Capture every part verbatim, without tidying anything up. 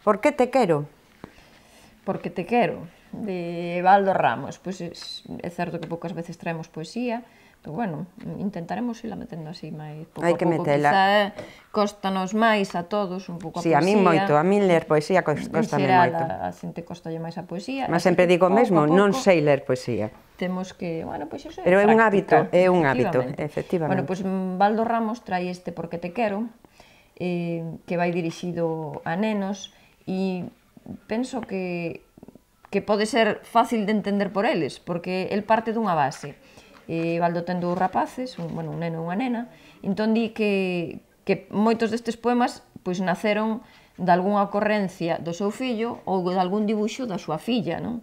Por que te quero? Porque te quero, de Evaldo Ramos. Pois é certo que poucas veces traemos poesía, pero bueno, intentaremos irla metendo así máis pouco a pouco. Quizá cóstanos máis a todos un pouco a poesía. Si, a mí moito, a mí ler poesía cóstame moito. En xeral, a xente cóstalle máis a poesía. Mas sempre digo o mesmo, non sei ler poesía. Temos que, bueno, pois iso é práctica. Pero é un hábito, é un hábito, efectivamente. Bueno, pois Evaldo Ramos trai este Porque te quero, que vai dirixido a nenos, e penso que que pode ser fácil de entender por eles, porque el parte dunha base. Evaldo ten dous rapaces, un neno e unha nena, entón di que que moitos destes poemas pois naceron de algunha ocorrencia do seu fillo ou de algún dibuixo da súa filla, non?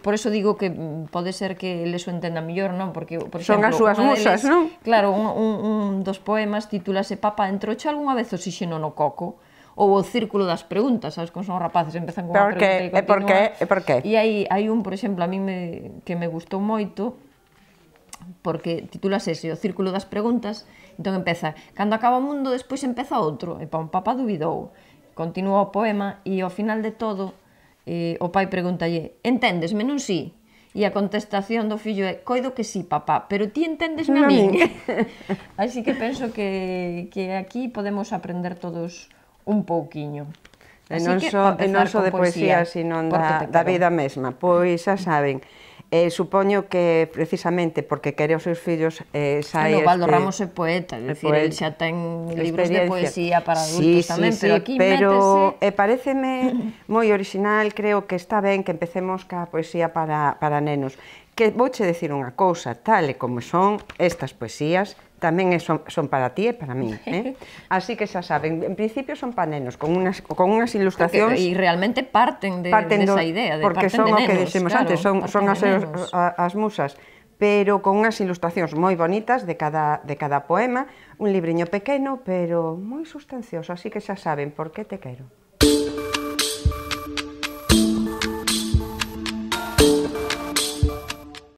Por eso digo que pode ser que eles o entendan mellor, non? Porque, por exemplo, son as súas musas, non? Claro, un dos poemas titúlase Papá, entrouche algunha vez oxíxeno no coco? Ou o círculo das preguntas, sabes, como son os rapaces, empezan con unha pregunta e continúan. E por que? E hai un, por exemplo, a mí que me gustou moito, porque titúlase ese, o círculo das preguntas, entón empeza, cando acaba o mundo, despois empeza outro, e pon, papá dubidou, continúa o poema, e ao final de todo, o pai pregúntalle, enténdesme, non si? E a contestación do fillo é, coido que si, papá, pero ti enténdesme a min? Así que penso que aquí podemos aprender todos un pouquiño. E non só de poesía, sino da vida mesma. Pois xa saben, supoño que precisamente porque quere os seus fillos sai este... Evaldo Ramos é poeta, é dicir, el xa ten libros de poesía para adultos tamén, pero aquí métese... E pareceme moi original, creo que está ben que empecemos ca poesía para nenos. Que vouche decir unha cousa, tal e como son estas poesías, tamén son para ti e para mí. Así que xa saben, en principio son para nenos, con unhas ilustracións... E realmente parten desa idea, porque son o que dixemos antes, son as musas, pero con unhas ilustracións moi bonitas de cada poema, un libriño pequeno, pero moi sustancioso, así que xa saben, por que te quero.